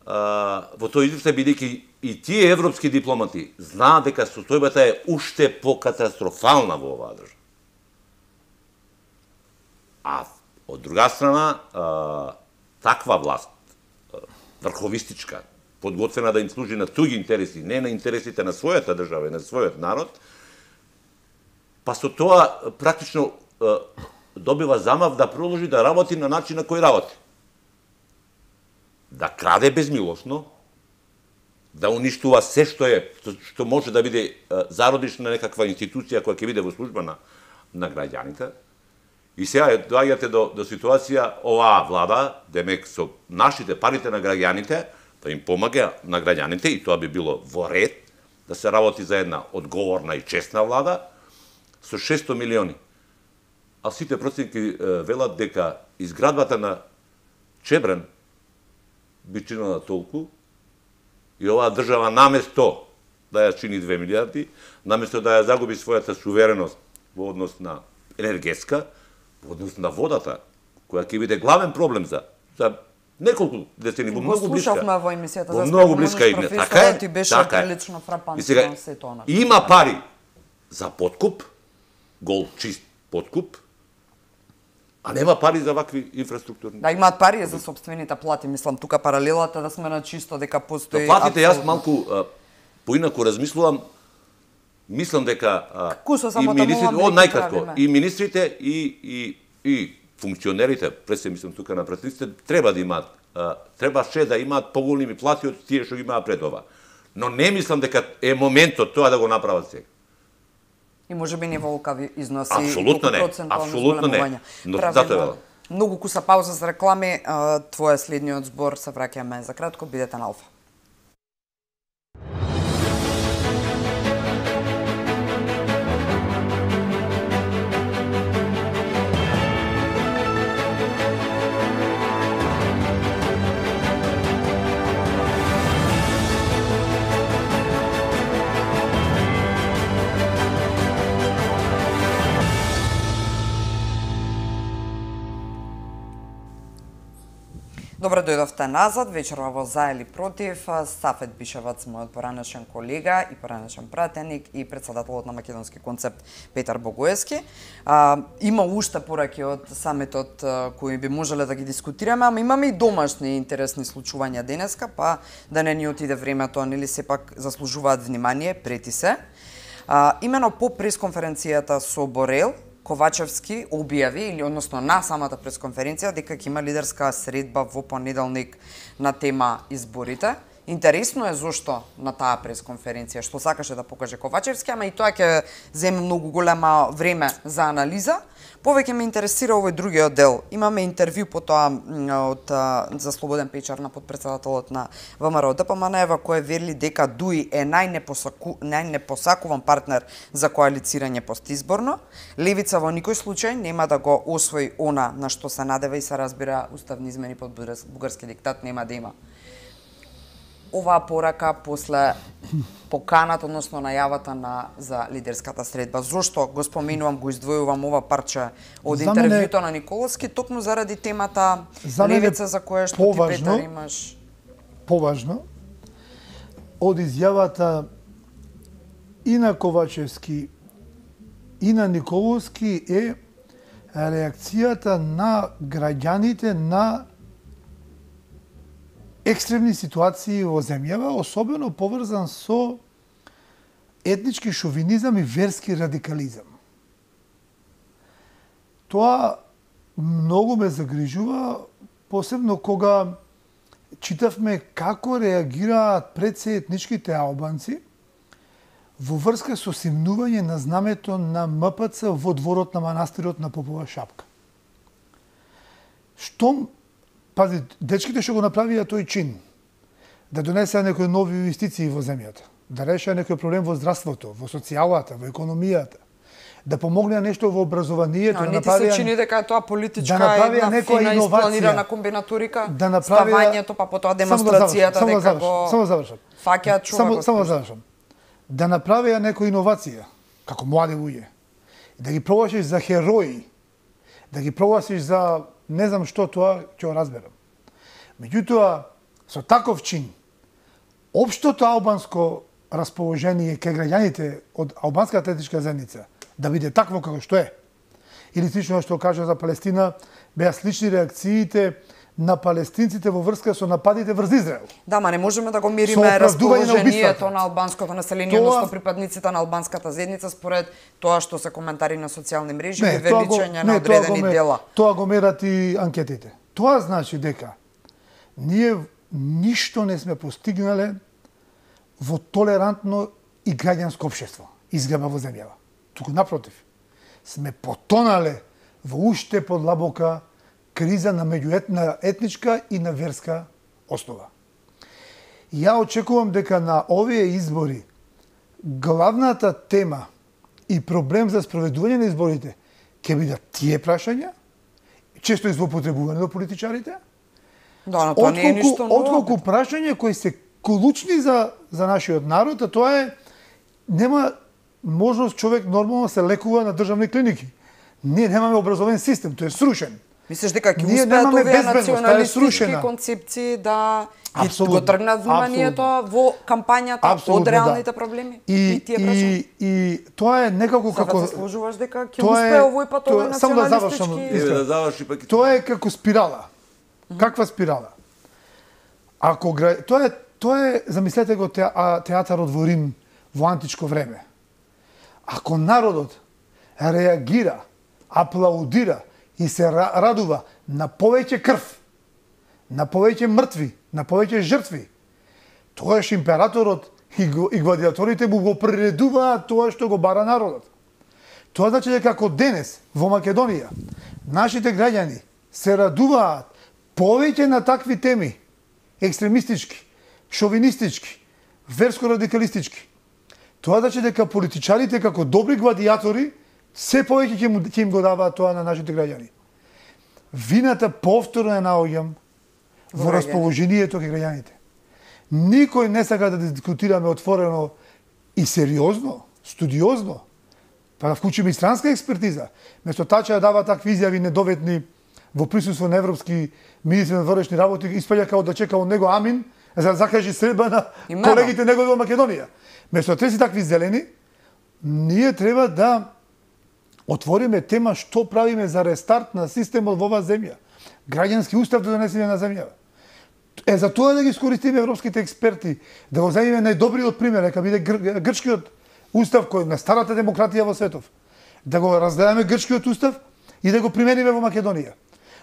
а, во тој извештај бидејќи и тие европски дипломати знаат дека состојбата е уште покатастрофална во оваа држава. А од друга страна, а, таква власт, врховистичка, подготвена да им служи на туѓи интереси, не на интересите на својата држава и на својот народ, па со тоа практично добива замав да продолжи да работи на начин на кој работи. Да краде безмилосно, да уништува се што е, што може да биде зародиш на некаква институција која ќе биде во служба на, на граѓаните. И сега доаѓате до, до ситуација, оваа влада, демек со нашите парите на граѓаните, да им помага на граѓаните, и тоа би било во ред, да се работи за една одговорна и честна влада, со шесто милиони. А сите проценки велат дека изградбата на Чебрен би чинала толку, и оваа држава наместо да ја чини две милиарди, наместо да ја загуби својата сувереност во однос на енергетска, во однос на водата, која ќе биде главен проблем за, за неколку децени, во многу блиска. Го слушавме во емисијата за многу блиска игра. Така е, ти беше така прилично фрапантно се тоа. Има пари за подкуп, гол чист подкуп, а нема пари за вакви инфраструктурни. Да, имаат пари за собствените плати, мислам, тука паралелата да сме на чисто дека постои. За платите јас малку а, поинаку размислувам, мислам дека а, и министрите, о, најкратко, и министрите и и и функционерите, пред се мислам тука на пратниците, треба да имаат, а, требаше да имаат поголеми плати од тие што ги имаат пред ова. Но не мислам дека е моментот тоа да го направат сега. И може би не во лукави износи. Апсолутно не, апсолутно не. Но затоа многу куса пауза за реклами, твоја следниот збор, се враќаме за кратко, бидете на Алфа. Добро дојдовте назад, вечерва во За или против. Сафет Бишевац, мојот поранешен колега и поранешен пратеник и председателот на Македонски концепт Петар Богоевски. А, има уште пораки од самитот кои би можеле да ги дискутираме, ама имаме и домашни интересни случувања денеска, па да не ни отиде времето, нели сепак заслужуваат внимание, прети се. А, имено по пресконференцијата со Борел, Ковачевски објави, или односно на самата пресконференција, дека ќе има лидерска средба во понеделник на тема изборите. Интересно е зошто на таа пресконференција, што сакаше да покаже Ковачевски, ама и тоа ќе земе многу голема време за анализа. Повеќе ме интересира овој другиот дел. Имаме интервју по тоа од за Слободен Печар на подпредседателот на ВМРО ДПМН-ева, кој вели дека ДУИ е најнепосаку, најнепосакуван партнер за коалицирање постизборно. Левица во никој случај нема да го освои она на што се надева и се разбира уставни измени под бугарски диктат нема да има. Оваа порака после поканата, односно најавата на за лидерската средба. Зошто го споменувам, го издвојувам ова парче од интервјуто на Николовски, токму заради темата за левица за која што поважно, ти, Петар, имаш... Поважно, од изјавата и на Ковачевски и на Николовски е реакцијата на граѓаните на екстремни ситуации во земјава, особено поврзан со етнички шовинизам и верски радикализам. Тоа многу ме загрижува, посебно кога читавме како реагираат пред се етничките албанци во врска со симнување на знамето на МПЦ во дворот на манастирот на Попова шапка. Штом Пази, дечките што го направија тој чин, да донесеа некои нови инвестиции во земјата, да решеа некој проблем во здравството, во социјалата, во економијата, да помогнеа нешто во образованието, no, да направија... Не ти се чини дека е тоа политичка да една фина испланирана комбинаторика, да направија... ставањето, па потоа демонстрацијата, само дека да го... Само завршам. Фаќаат човекот. Само, само завршам. Да направија некоја иновација, како млади луѓе, да ги прогласиш за херои, да ги прогласиш за... Не знам што тоа ќе го разберам. Меѓутоа, со таков чин, општото албанско расположение кај граѓаните од албанската етничка заедница да биде такво како што е, или слично што кажа за Палестина, беа слични реакциите на палестинците во врска со нападите врз Израел. Да, ма не можеме да го мириме расположението на албанското население, тоа... односно припадниците на албанската заедница според тоа што се коментари на социјални мрежи и величење на одредени тоа дела. Тоа го мерат и анкетите. Тоа значи дека ние ништо не сме постигнале во толерантно и граѓанско општество, изгреба во земјава. Туку напротив, сме потонале во уште подлабока криза на меѓуетна етничка и на верска основа. Ја очекувам дека на овие избори главната тема и проблем за спроведување на изборите ќе бидат тие прашања, често извопотребувани до политичарите, да, но тоа не е ништо ново. Отколку прашања кои се клучни за, за нашиот народ, а тоа е, нема можност човек нормално се лекува на државни клиники. Ние немаме образовен систем, тој е срушен. Мислиш дека ќе успеат овие националистички концепции да ги го тргнат вниманието во кампањата од реалните проблеми и, и тие прашања? И, и тоа е некако како... Сега се сложуваш дека ќе успее овој пат овој националистички... Тоа е како спирала. Каква спирала? Ако тоа е тоа е замислете го театарот во Рим во античко време. Ако народот реагира, аплаудира и се радува на повеќе крв, на повеќе мртви, на повеќе жртви, тогаш императорот и гладиаторите му го приредуваат тоа што го бара народот. Тоа значи дека како денес во Македонија нашите граѓани се радуваат повеќе на такви теми, екстремистички, шовинистички, верско-радикалистички. Тоа значи дека политичарите како добри гладиатори се повеќе ќе им го даваат тоа на нашите граѓани. Вината повторно ја наоѓам во расположението кај граѓаните. Никој не сака да дискутираме отворено и сериозно, студиозно, па да вклучиме и странска експертиза. Место Тача да дава такви изјави недоветни во присуство на европски министри на външни работи, испаѓа како да чека од него амин, за да закаже средба на колегите негови во Македонија. Место тези такви зелени, ние треба да отвориме тема што правиме за рестарт на системот во оваа земја. Граѓански устав да донесеме на земјава. Е, за тоа да ги искористиме европските експерти, да го земеме најдобриот пример, нека биде гр грчкиот устав кој на старата демократија во светов. Да го разгледаме грчкиот устав и да го примениме во Македонија.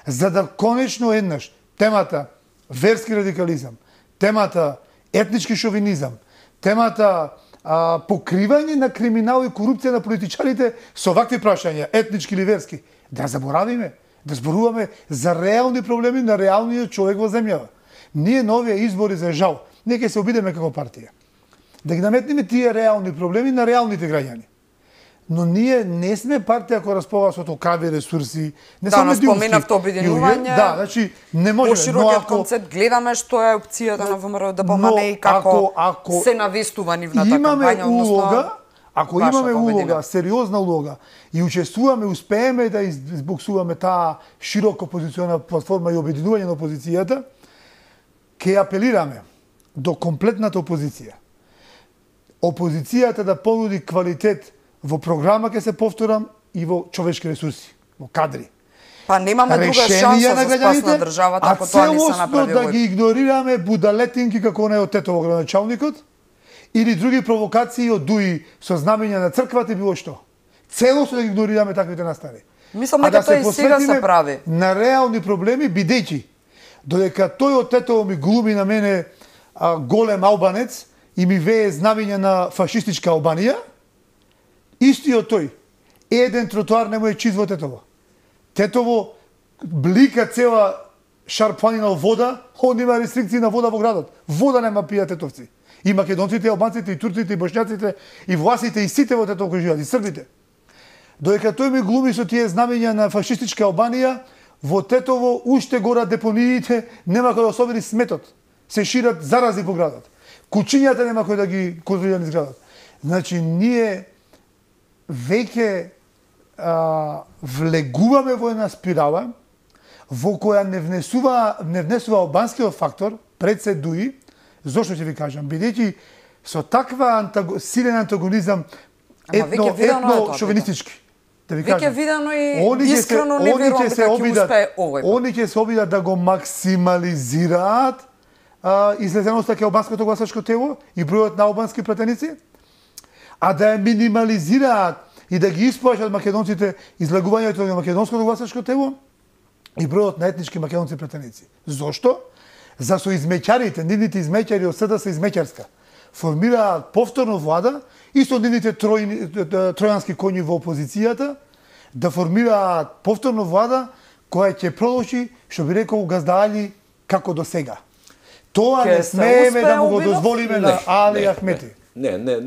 За да конечно еднаш темата верски радикализам, темата етнички шовинизам, темата а, покривање на криминал и корупција на политичарите со вакви прашања, етнички или верски, да заборавиме, да зборуваме за реални проблеми на реалниот човек во земјава. Ние на овие избори за жал, ние ќе се обидеме како партија. Да ги наметнеме тие реални проблеми на реалните граѓани. Но ние не сме партија која располага со толкави ресурси, не да, сме споменавте обединување. Да, значи не можеме. Поширокиот ако... концепт гледаме што е опцијата на ВМРО да помане и како ако, ако се навестува нивната кампања, улога, односно ако имаме улога, сериозна улога и учествуваме, успееме да избоксуваме таа широко позиционна платформа и обединување на опозицијата, ќе апелираме до комплетната опозиција. Опозицијата да понуди квалитет во програма, ќе се повторам, и во човечки ресурси, во кадри. Па немаме друга шанса за спас на државата ако тоа не се направи. А целосно да ги игнорираме будалетинки како не од Тетово градоначалникот или други провокации од Дуи со знамења на црквата и било што. Целосно да ги игнорираме таквите настани. Мислам дека тоа и сега се прави. На реални проблеми, бидејќи додека тој од Тетово ми глуми на мене а, голем албанец и ми вее знамења на фашистичка Албанија, истиот тој, еден тротоар не му е чист во Тетово. Тетово блика цела шарпанина вода, он има рестрикции на вода во градот. Вода нема пија тетовци. И македонците, и албанците, и турците, и бошњаците, и власите, и сите во Тетово кои живеат, и србите. Додека тој ми глуми со тие знамења на фашистичка Албанија, во Тетово уште гора депониите, нема кој да особени сметот. Се шират зарази по градот. Кучињата нема кој да ги контролира низ градот. Значи, ние веќе а, влегуваме во една спирала во која не внесува, не внесува албанскиот фактор, пред се Дуи, зошто ќе ви кажам, бидејќи со таква антаго, силен антагонизам етно, етно шовинистички. Да ви кажам. Веќе видено и искрено не верувам дека ќе успее овој. Они ќе се обидат да го максимализираат а, излезеноста ке албанското гласачко тело и бројот на албански пратеници, а да ја минимализираат и да ги исплашат македонците излегувањето на македонското гласачко тело и бројот на етнички македонци пратеници. Зошто? За со измеќарите, нивните измеќари од СДС измеќарска, формираат повторно влада и со нивните трој, тројански коњи во опозицијата да формираат повторно влада која ќе продолжи, што би рекол Газдаали, како до сега. Тоа не смееме да му го дозволиме на Али Ахмети. Не, не,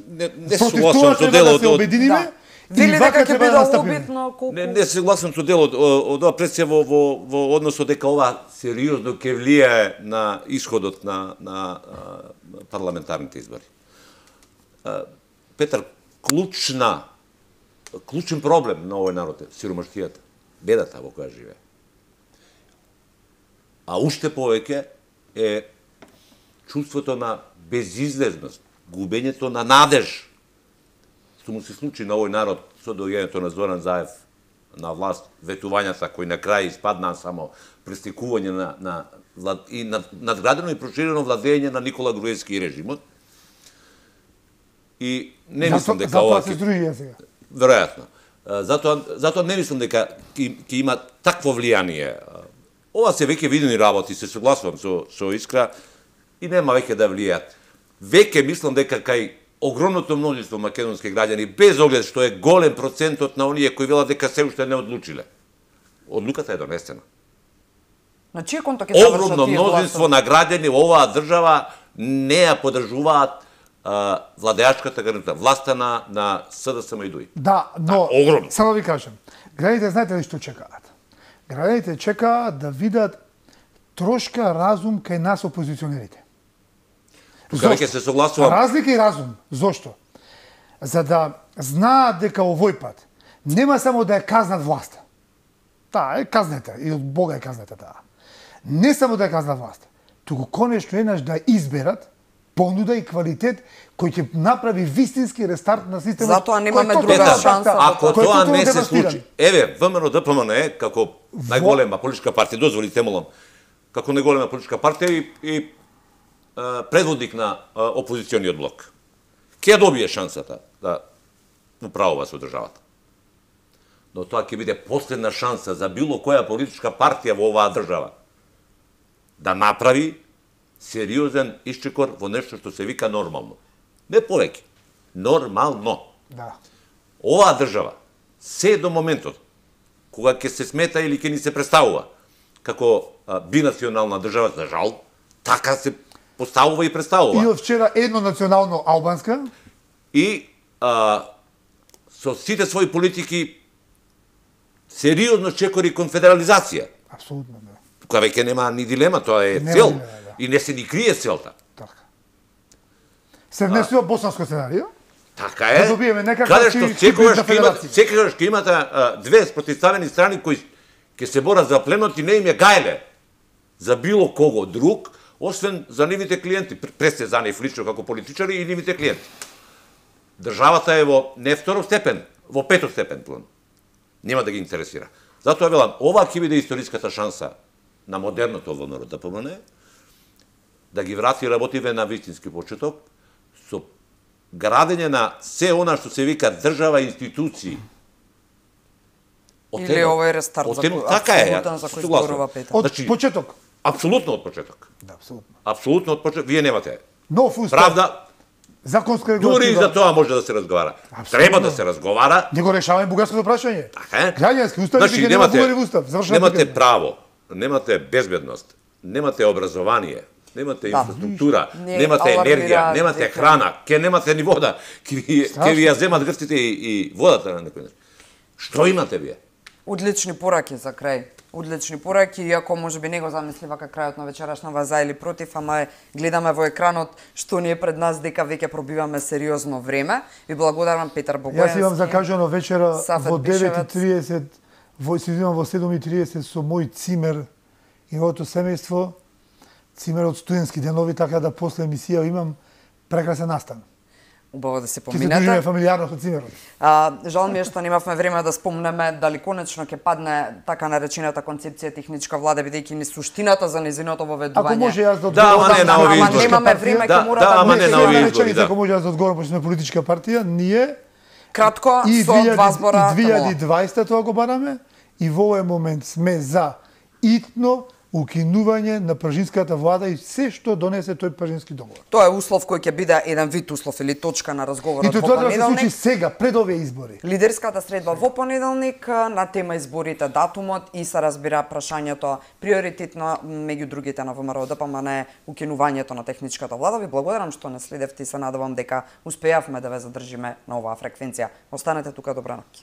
не, не се согласувам со делот од... Да. Вели дека ќе биде обидно колку... Не, не се согласувам со делот од ова пресија во, во, во односот дека ова сериозно ќе влијае на исходот на, на а, парламентарните избори. А, Петар, клучна, клучен проблем на овој народ е сиромаштијата, бедата во која живее. А уште повеќе е чувството на безизлезност, губењето на надеж, што му се случи на овој народ со доаѓањето на Зоран Заев на власт, ветувањата кои на крај испаднаа само престикување на, на и надградено и проширено владење на Никола Груевски и режимот. И не мислам дека ова ќе здружија сега. Веројатно. Затоа затоа не мислам дека ќе има такво влијание. Ова се веќе видени работи, се согласувам со со Искра и нема веќе да влијаат. Веќе мислам дека кај огромното множество македонски граѓани, без оглед што е голем процентот на оние кои велат дека се уште не одлучиле. Одлуката е донесена. На чие конто ќе завршат огромно тие множество на граѓани во оваа држава не ја подржуваат а, владеачката гарнитура, власта на на СДСМ и Дуи. Да, но огромно. Само ви кажам, граѓаните знаете ли што чекаат? Граѓаните чекаат да видат трошка разум кај нас опозиционерите. Тука веќе се согласувам. Разлика и разум. Зошто? За да знаат дека овој пат нема само да ја казнат власта, таа е казнета и од Бога е казнета таа. Не само да е казна власт, туку конечно еднаш да изберат понуда и квалитет кој ќе направи вистински рестарт на системот. Затоа немаме кој друга тотално шанса. Ако кој е тоа тотално не се девастиран. случи, еве, ВМРО Д П М Н како најголема политичка партија, дозволите молам, како најголема политичка партија и, и а, предводник на а, опозициониот блок, ќе добие шансата да управува со државата. Но тоа ќе биде последна шанса за било која политичка партија во оваа држава да направи сериозен исчекор во нешто што се вика нормално. Не повеќе. Нормално. Да. Оваа држава, се до моментот, кога ќе се смета или ќе ни се представува како а, бинационална држава, за жал, така се поставува и представува. И од вчера едно национално албанска. И а, со сите своји политики сериозно чекори конфедерализација. Апсолутно, да. Тука веќе нема ни дилема, тоа е Нема цел. дилема, да. И не се ни крие целта. Така. Се внесува босанско сценарио. Така е. Да добиеме некаква Каде што си- секогаш си ќе имате, федерација. секогаш ќе имате а, две спротивставени страни кои ќе се борат за пленот и не им е гајле за било кого друг, освен за нивните клиенти, престе за нив лично како политичари и нивните клиенти. Државата е во не второ степен, во пето степен план. Нема да ги интересира. Затоа велам, ова ќе биде историската шанса на модерното ВМРО Д П М Н да ги врати работиве на вистински почеток со градење на се она што се вика држава и институции. Од Или тема- овој рестарт од за тема- кој- така е, апсолутен за кој согласен. зборува Петар. Од Значи, почеток. Апсолутно од почеток. Да, апсолутно. Апсолутно од почеток. Вие немате Нов устав. правда, Законска дури и регулатива. за тоа може да се разговара. Апсолутно. Треба да се разговара. Не го решаваме бугарското прашање. Така е. Граѓански устав Значи, и нема бугари устав. Завршена немате приказна. право, немате безбедност, немате образование, немате Да. инфраструктура, Не немате алармира енергија, немате дека- храна, ке немате ни вода, ке ви, ке ви ја земат грците и, и водата на некој начин. Што имате вие? Одлични пораки за крај. Одлични пораки, иако можеби не го замислива како крајот на вечерашнава за или против, ама е, гледаме во екранот што ни е пред нас дека веќе пробиваме сериозно време. Ви благодарам Петар Богојански. Јас имам закажано вечера Сафет во девет и Бишевец. тридесет, во се идувам во седум и тридесет со мој цимер и моето семејство, цимер од студентски денови, така да после емисија имам прекрасен настан. Убаво да се Ќе се дружиме поминете. фамилиарно со цимерот. А, жал ми е што немавме време да спомнеме дали конечно ќе падне така наречената концепција техничка влада, бидејќи ни суштината за незиното воведување. Ако може јас да Да, ама одговорам не на на овие Ама избори. немаме време, Да, ќе мора да, да ама го не на Една овие изјавиме. избори, реченица, да. ако може јас да одговорам, пошто сме политичка партија, ние Кратко, и со два збора. две илјади и дваесета тоа го бараме и во овој момент сме за итно укинување на пржинската влада и се што донесе тој пржински договор. Тоа е услов кој ќе биде еден вид услов или точка на И разговорот тоа во треба да се случи понеделник. сега, пред овие избори. Лидерската средба во понеделник на тема изборите, датумот и се разбира прашањето приоритетно меѓу другите на ВМРО Д П М Н укинувањето на техничката влада. Ви благодарам што не следевте и се надевам дека успеавме да ве задржиме на оваа фреквенција. Останете тука, добра ноќ.